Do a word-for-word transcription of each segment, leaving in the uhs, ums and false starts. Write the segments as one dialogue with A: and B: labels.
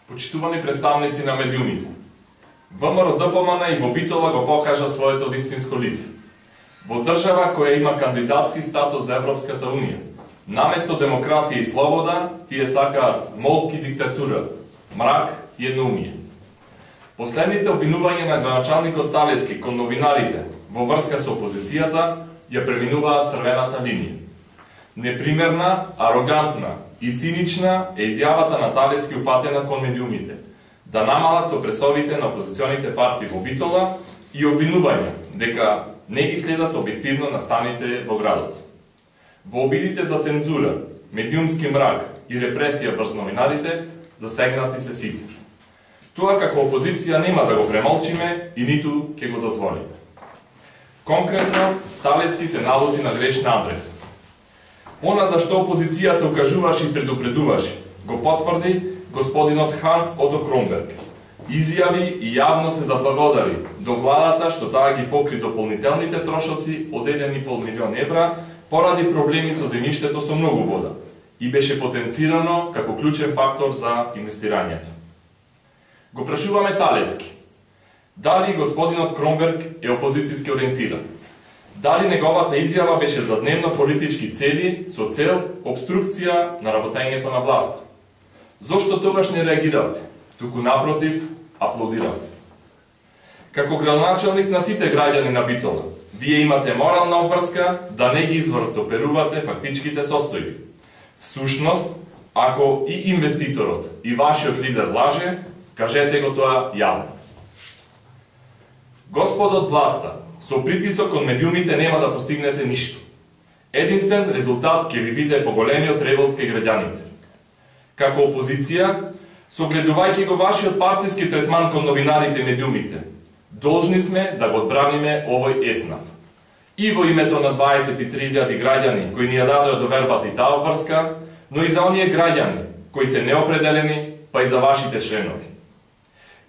A: Почитувани представници на медиумите, ВМРО Д П М Н и во Битола го покажа своето вистинско лице. Во држава која има кандидатски статус за Европската Унија, наместо демократија и слобода, тие сакаат молк и диктатура, мрак и едноумие. Последните обвинувања на граначалникот Талески кон новинарите во врска со опозицијата ја преминуваат црвената линија. Непримерна, арогантна и цинична е изјавата на Талески упатена кон медиумите, да намалат со пресовите на опозиционите партии во Битола и обвинувања дека не ги следат објективно настаните во градот. Во обидите за цензура, медиумски мрак и репресија врз новинарите засегнати се сите. Тоа како опозиција нема да го премолчиме и ниту ќе го дозволиме. Конкретно, Талески се налути на грешна адреса. Она за што опозицијата укажуваше и предупредуваше, го потврди господинот Ханс Ото Кромберг. Изјави и јавно се заблагодари до владата што таа ги покри дополнителните трошоци од еден и пол милион евра поради проблеми со земјиштето со многу вода и беше потенцирано како клучен фактор за инвестирањето. Го прашуваме Талески, дали господинот Кромберг е опозицијски ориентиран? Дали неговата изјава беше за дневно политички цели со цел обструкција на работењето на власта? Зошто тогаш не реагиравте, туку напротив, аплодиравте? Како градоначалник на сите граѓани на Битола, вие имате морална обврска да не ги извртоперувате фактичките состојби. Всушност, ако и инвеститорот и вашиот лидер лаже, кажете го тоа јавно. Господот власта, со притисок од медиумите нема да постигнете ништо. Единствен резултат ќе ви биде поголемиот револт кај граѓаните. Како опозиција, согледувајќи го вашиот партиски третман кон новинарите и медиумите, должни сме да го одбраниме овој еснав. И во името на дваесет и три илјади граѓани кои ни ја дадоа довербата и таа врска, но и за оние граѓани кои се неопределени, па и за вашите членови.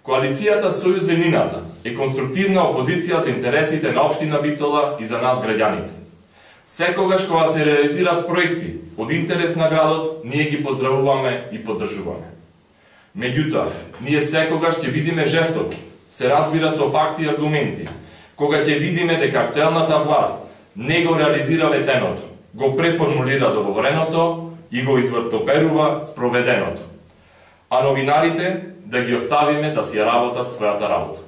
A: Коалицијата Сојуз Зенината е конструктивна опозиција за интересите на општина Битола и за нас граѓаните. Секогаш кога се реализираат проекти од интерес на градот, ние ги поздравуваме и поддржуваме. Меѓутоа, ние секогаш ќе бидеме жестоки, се разбира со факти и аргументи, кога ќе видиме дека актуелната власт не го реализира ветеното, го преформулира договореното и го извртоперува спроведеното. А новинарите да ги оставиме да си работат својата работа.